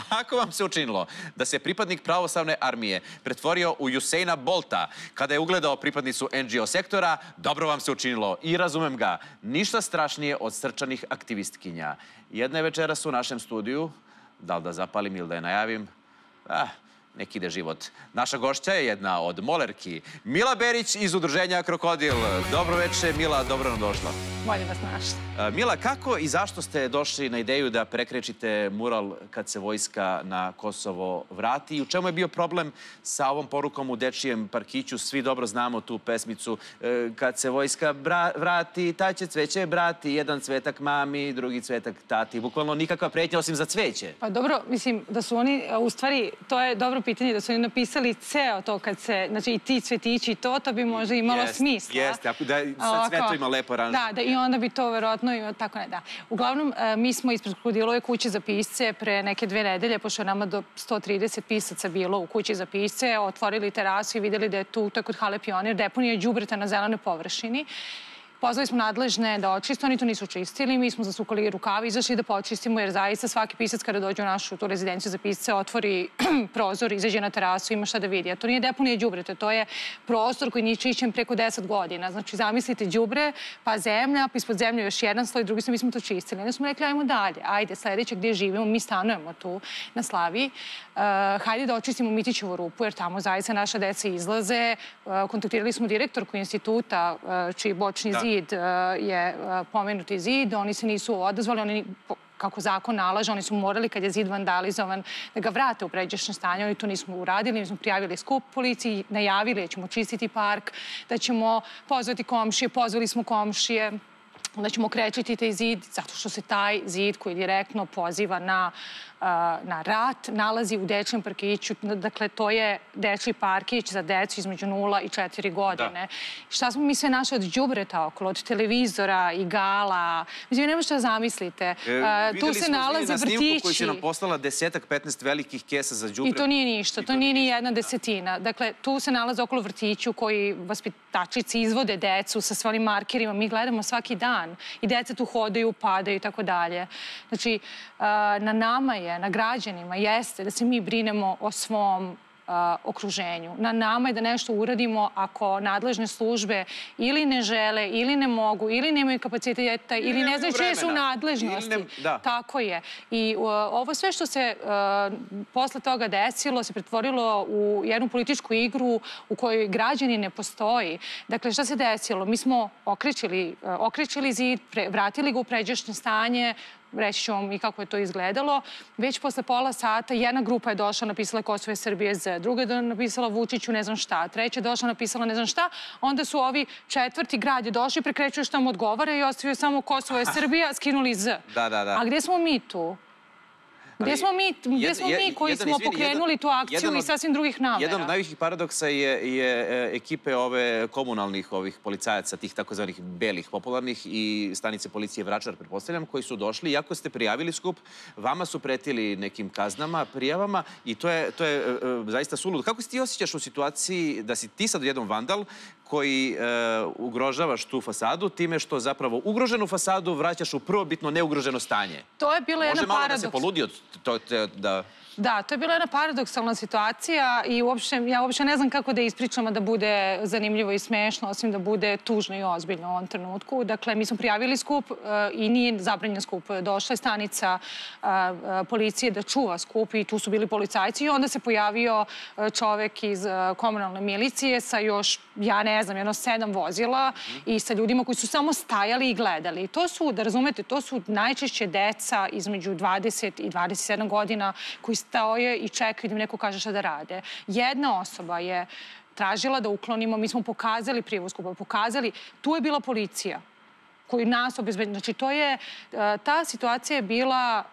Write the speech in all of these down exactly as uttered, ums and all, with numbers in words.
Ako vam se učinilo da se pripadnik pravoslavne armije pretvorio u Usaina Bolta kada je ugledao pripadnicu en dži o sektora, dobro vam se učinilo i razumem ga. Ništa strašnije od srčanih aktivistkinja. Jedna je večeras u našem studiju, da li da zapalim ili da je najavim? Ah, nek ide život. Naša gošća je jedna od molerki, Mila Berić iz udruženja Krokodil. Dobro večer, Mila, dobro nam došla. Bolje vas našli. Mila, kako i zašto ste došli na ideju da prekrečite mural kad se vojska na Kosovo vrati? I u čemu je bio problem sa ovom porukom u dečijem parkiću? Svi dobro znamo tu pesmicu. Kad se vojska vrati, taj će cveće brati. Jedan cvetak mami, drugi cvetak tati. Bukvalno nikakva pretnja osim za cveće. Pa dobro, mislim da su oni, u stvari, to je dobro pitanje, da su oni napisali ceo to kad se, znači i ti cvetići i to, to bi možda imalo smisla. Jeste, da sad sve to ima lepo aranžovano. Da, da, i onda bi to verovatno, tako ne, da. Uglavnom, mi smo ispred Krokodilove kuće za pisce pre neke dve nedelje, pošto je nama do sto trideset pisaca bilo u kući za pisce, otvorili terasu i vidjeli da je tu, to je kod Hale Pionir, deponija đubreta na zelenoj površini. Pozvali smo nadležne da očiste, oni to nisu čistili, mi smo zasukali rukavi, izašli da počistimo, jer zaista svaki pisac kada dođe u našu tu rezidenciju za pisce otvori prozor, izađe na terasu, ima šta da vidi. A to nije deponija đubreta, to je prostor koji nije čišćen preko deset godina. Znači, zamislite đubre, pa zemlja, pa ispod zemlje još jedan sloj, drugi smo, mi smo to čistili. Onda smo rekli, ajmo dalje, ajde, sledeće gdje živimo, mi stanujemo tu na Slaviji, hajde da očistimo Mitićevu rupu, jer tamo zaista naša deca izlaze. Kontaktirali smo direktorku instituta, čiji bočni zid je pomenuti zid, oni se nisu odazvali, oni, kako zakon nalaže, oni su morali, kad je zid vandalizovan, da ga vrate u pređašnje stanje, oni to nismo uradili, mi smo prijavili skup policiji, najavili da ćemo čistiti park, da ćemo pozvati komšije, pozvali smo komšije, da ćemo krečiti taj zid, zato što se taj zid koji direktno poziva na na rat, nalazi u dečijem parkiću. Dakle, to je dečiji parkić za decu između nula i četiri godine. Šta smo mi sve našli od đubreta okolo, od televizora, igala? Mislim, ne možete da zamislite. Tu se nalaze vrtići. Videli smo na snimku koji će nam poslala desetak, petnaest velikih kesa za đubre. I to nije ništa, to nije ni jedna desetina. Dakle, tu se nalaze okolo vrtiću koji vaspitačici izvode decu sa svojim markerima. Mi gledamo svaki dan i deca tu hodaju, padaju i tako dalje. Znači, na nama je, na građanima jeste da se mi brinemo o svom okruženju. Na nama je da nešto uradimo ako nadležne službe ili ne žele, ili ne mogu, ili nemaju kapaciteta, ili ne znaju čije su nadležnosti. Tako je. I ovo sve što se posle toga desilo se pretvorilo u jednu političku igru u kojoj građani ne postoji. Dakle, šta se desilo? Mi smo okrećili zid, vratili ga u pređašnje stanje, reći ću vam i kako je to izgledalo. Već posle pola sata jedna grupa je došla, napisala Kosovo je Srbije Z, druga je napisala Vučiću ne znam šta, treća je došla, napisala ne znam šta, onda su ovi četvrti grad je došli, prekrećuju šta mu odgovara i ostavio samo Kosovo je Srbija, skinuli Z. A gdje smo mi tu? Gdje smo mi koji smo pokrenuli tu akciju i sasvim drugih namera? Jedan od najvećih paradoksa je ekipe ove komunalnih policajaca, tih takozvanih belih popularnih i stanice policije Vračar, pretpostavljam, koji su došli. Iako ste prijavili skup, vama su pretili nekim kaznama, prijavama i to je zaista suludo. Kako se ti osjećaš u situaciji da si ti sad jedan vandal koji ugrožavaš tu fasadu time što zapravo ugroženu fasadu vraćaš u prvobitno neugroženo stanje? To je bilo jedna paradoks. Može malo da se poludi od da... Da, to je bila jedna paradoksalna situacija i ja uopšte ne znam kako da ispričam, da bude zanimljivo i smešno, osim da bude tužno i ozbiljno u ovom trenutku. Dakle, mi smo prijavili skup i nije zabranjen skup. Došla je stanica policije da čuva skup i tu su bili policajci i onda se pojavio čovek iz komunalne milicije sa još, ja ne znam, jedno sedam vozila i sa ljudima koji su samo stajali i gledali. To su, da razumete, to su najčešće deca između dvadeset i dvadeset sedam godina koji stoje i čekaju da im neko kaže šta da rade. Jedna osoba je tražila da uklonimo, mi smo pokazali prijavu skupa, pokazali, tu je bila policija koji nas obezbeđuje. Znači, to je, ta situacija je bila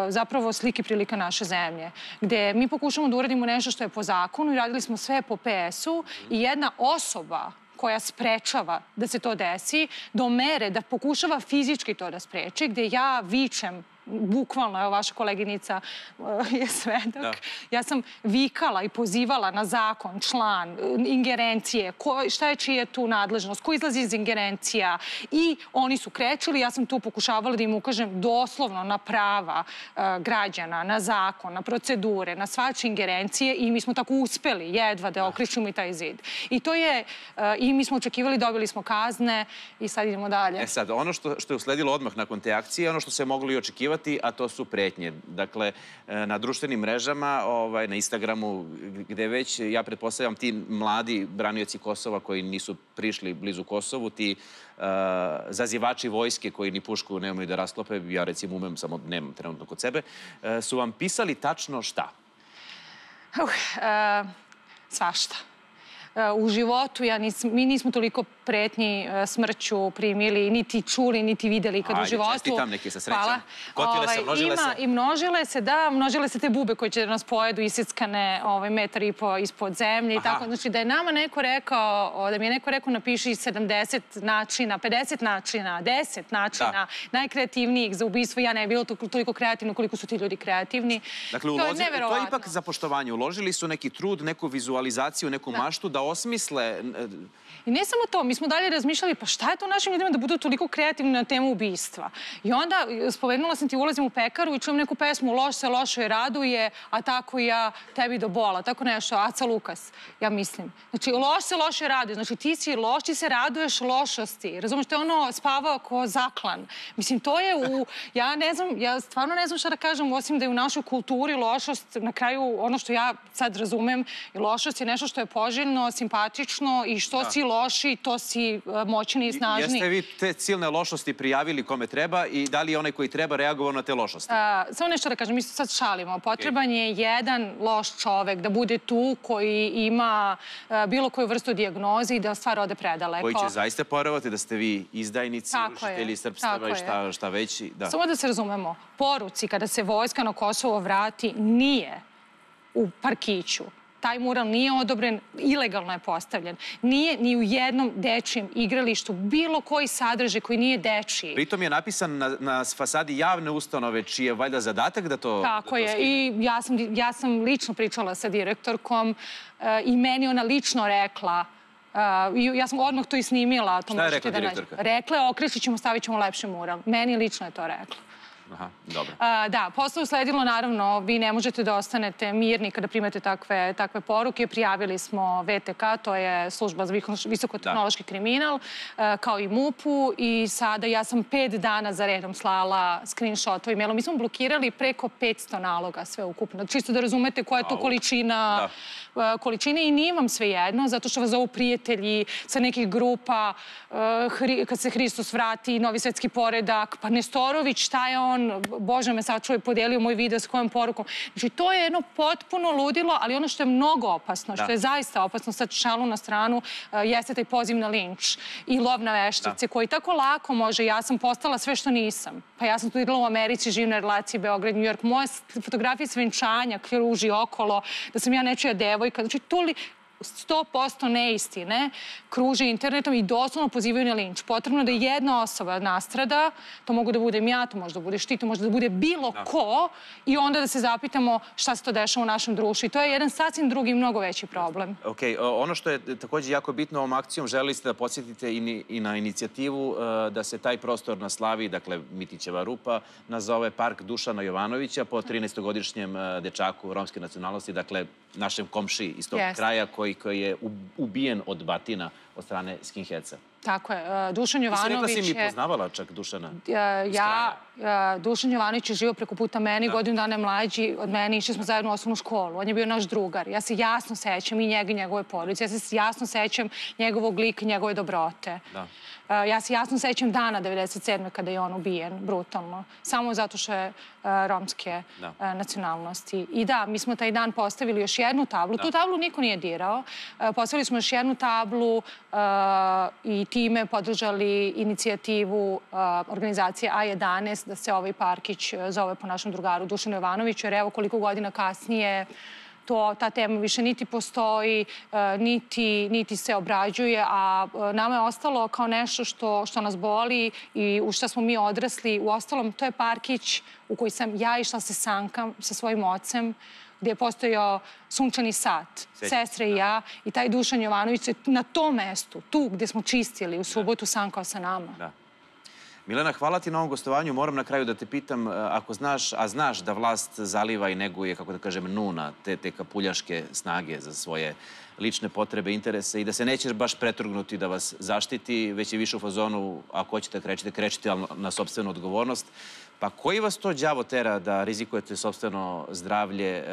zapravo slika i prilika naše zemlje, gde mi pokušamo da uradimo nešto što je po zakonu i radili smo sve po P S-u i jedna osoba koja sprečava da se to desi, do mere da pokušava fizički to da spreči, gde ja vičem bukvalno, evo vaša koleginica je svedok, ja sam vikala i pozivala na zakon, član, ingerencije, šta je čija tu nadležnost, ko izlazi iz ingerencija i oni su krećili, ja sam tu pokušavala da im ukažem doslovno na prava građana, na zakon, na procedure, na svačije ingerencije i mi smo tako uspeli jedva da okrećemo i taj zid. I to je, i mi smo očekivali, dobili smo kazne i sad idemo dalje. E sad, ono što je usledilo odmah nakon te akcije, ono što se moglo i očekivati, a to su pretnje. Dakle, na društvenim mrežama, na Instagramu, gde već, ja pretpostavljam, ti mladi branioci Kosova koji nisu prišli blizu Kosovu, ti zazivači vojske koji ni pušku nemaju da rasklope, ja recimo umem, samo nemam trenutno kod sebe, su vam pisali tačno šta? Svašta. U životu mi nismo toliko pretnji smrću primili, niti čuli, niti videli kad u životu. Ajde, čestitam, neki sa srećom. Kotile se, množile se? I množile se, da, množile se te bube koje će da nas pojedu isickane metar i po ispod zemlje i tako. Znači da je nama neko rekao, da mi je neko rekao napiši sedamdeset načina, pedeset načina, deset načina najkreativnijih za ubistvo. Ja ne je bilo toliko kreativno koliko su ti ljudi kreativni. Dakle, to je ipak za poštovanje. Uložili su neki trud, neku vizualizaciju, neku maštu da osmisle... I ne samo to, mi smo dalje razmišljali pa šta je to našim ljudima da budu toliko kreativni na temu ubistva. I onda spomenula sam ti, ulazim u pekaru i čujem neku pesmu Loš se lošoj raduje, a tako ja tebi do bola. Tako nešto, Aca Lukas, ja mislim. Znači, loš se loše raduje. Znači, ti si loš, ti se raduješ lošosti. Razumiješ, to je ono spavao ko zaklan. Mislim, to je u... Ja ne znam, ja stvarno ne znam šta da kažem, osim da je u našoj kulturi lošost, na kraju, ono što ja sad razumem, lošost je nešto što je poželjno, simpatično i što si loši, to si moćni i snažni. Jeste vi te silne lošosti prijavili kome treba i da li je onaj koji treba reagovao na te lošosti? Samo nešto da kažem, mi se sad šalimo. Potreban je jedan loš čovek da bude tu koji ima bilo koju vrstu dijagnoze i da stvar ode predaleko. Koji će zaista poverovati da ste vi izdajnici, rušitelji srpstava i šta već. Samo da se razumemo, poruci kada se vojska na Kosovo vrati nije u parkiću. Taj mural nije odobren, ilegalno je postavljen. Nije ni u jednom dečijem igralištu bilo koji sadržaj koji nije dečiji. Pritom je napisan na fasadi javne ustanove, čiji je valjda zadatak da to skine. Tako je. I ja sam lično pričala sa direktorkom i meni ona lično rekla, ja sam odmah to i snimila. Šta je rekla direktorka? Rekla je, okrećit ćemo, stavit ćemo lepši mural. Meni lično je to rekla. Aha, dobro. Da, posle usledilo, naravno, vi ne možete da ostanete mirni kada primete takve poruke. Prijavili smo V T K, to je služba za visokotehnološki kriminal, kao i MUP-u i sada ja sam pet dana za redom slala screenshot-ove mailom. Mi smo blokirali preko petsto naloga sve ukupno. Čisto da razumete koja je to količina količine i nije vam sve jedno, zato što vas zovu prijatelji sa nekih grupa, kad se Hristos vrati, Novi svetski poredak, pa Nestorović, šta je on, Bože me sačuvaj, podelio moj video s kojom porukom. Znači, to je jedno potpuno ludilo, ali ono što je mnogo opasno, što je zaista opasno, sad šalu na stranu, jeste taj poziv na linč i lov na veštice, koji tako lako može, ja sam postala sve što nisam. Pa ja sam studirala u Americi, živim na relaciji Beograd-New York, moje fotografije svenčanja kruži okolo, da sam ja nečija devojka, znači to li... sto posto neistine kruže internetom i doslovno pozivaju na linč. Potrebno da jedna osoba nastrada, to mogu da budem ja, to može da budeš ti, to može da bude bilo ko i onda da se zapitamo šta se to dešava u našem društvu. I to je jedan sasvim drugi, mnogo veći problem. Ok, ono što je također jako bitno ovom akcijom, želeli ste da podsjetite i na inicijativu da se taj prostor na Slavi, dakle Mitićeva rupa, nazove Park Dušana Jovanovića po trinaestogodišnjem dečaku romske nacionalnosti, dakle našem komšiji iz tog kraja koji koji je ubijen od batina od strane skinheadsa. Tako je. Dušan Jovanović je... Ti si rekla si mi poznavala čak Dušana? Ja, Dušan Jovanović je živio preko puta meni, godinu dana je mlađi od mene, išli smo zajedno u osnovnu školu. On je bio naš drugar. Ja se jasno sećam i njega i njegove porodice. Ja se jasno sećam njegovog lika i njegove dobrote. Ja se jasno sećam dana devedeset sedme kada je on ubijen, brutalno. Samo zato što je romske nacionalnosti. I da, mi smo taj dan postavili još jednu tablu. Tu tablu niko nije dirao. Postavili smo još jednu tablu i time podržali inicijativu organizacije A jedanaest da se ovaj parkić zove po našem drugaru Dušanu Jovanoviću, jer evo koliko godina kasnije to, ta tema više niti postoji, niti, niti se obrađuje, a nama je ostalo kao nešto što, što nas boli i u što smo mi odrasli. U ostalom, to je parkić u koji sam ja išla se sankam sa svojim ocem, gdje je postojao sunčani sat, sestre i ja, i taj Dušan Jovanović se na tom mestu, tu gdje smo čistili, u subotu sankao sa nama. Da. Milena, hvala ti na ovom gostovanju. Moram na kraju da te pitam, ako znaš, a znaš da vlast zaliva i neguje, kako da kažem, nuna, te, te kapuljaške snage za svoje lične potrebe, interese i da se nećeš baš pretrgnuti da vas zaštiti, već je više u fazonu, ako hoćete krećite, krećite, ali na sopstvenu odgovornost. Pa koji vas to đavo tera da rizikujete sopstveno zdravlje?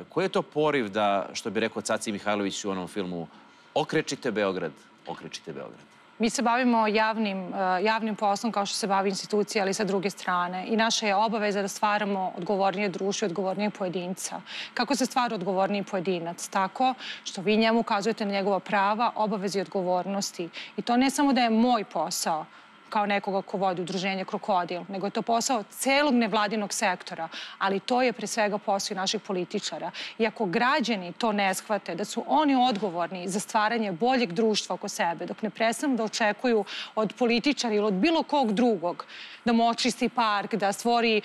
Koji je to poriv da, što bi rekao Caci Mihajlović u onom filmu, okrečite Beograd, okrečite Beograd? Mi se bavimo javnim, javnim poslom kao što se bavi institucija, ali sa druge strane. I naša je obaveza da stvaramo odgovornije društvo i odgovornije pojedinca. Kako se stvara odgovorniji pojedinac? Tako što vi njemu ukazujete na njegova prava, obaveze i odgovornosti. I to ne samo da je moj posao, kao nekoga ko vodi udruženje Krokodil, nego je to posao celog nevladinog sektora, ali to je pre svega posao naših političara. I ako građani to ne shvate, da su oni odgovorni za stvaranje boljeg društva oko sebe, dok ne prestanu da očekuju od političara ili od bilo kog drugog da mu očisti park, da stvori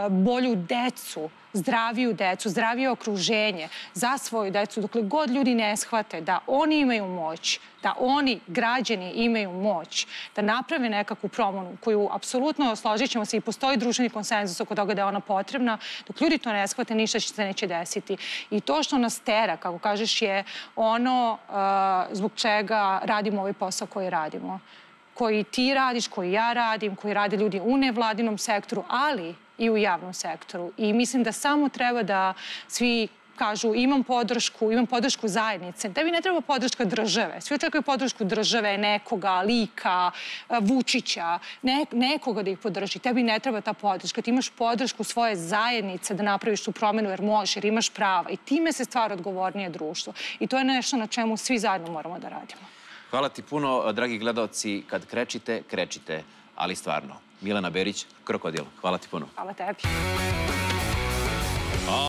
bolju decu, zdraviju decu, zdravije okruženje za svoju decu, dokle god ljudi ne shvate da oni imaju moć, da oni, građani, imaju moć, da naprave nekakvu promenu koju apsolutno, složit ćemo se, i postoji društveni konsenzus oko toga da je ona potrebna, dok ljudi to ne shvate, ništa se neće desiti. I to što nas tera, kako kažeš, je ono zbog čega radimo ovaj posao koji radimo. Koji ti radiš, koji ja radim, koji rade ljudi u nevladinom sektoru, ali i u javnom sektoru. I mislim da samo treba da svi kažu imam podršku, imam podršku zajednice. Tebi ne treba podrška države. Svi očekuju podršku države, nekoga, lika, Vučića, ne, nekoga da ih podrži. Tebi ne treba ta podrška. Ti imaš podršku svoje zajednice da napraviš tu promenu jer možeš, jer imaš prava. I time se stvara odgovornije društvo. I to je nešto na čemu svi zajedno moramo da radimo. Hvala ti puno, dragi gledalci. Kad krećite, krećite, ali stvarno. Milena Berić, Krokodil. Hvala ti puno. Hvala tebi.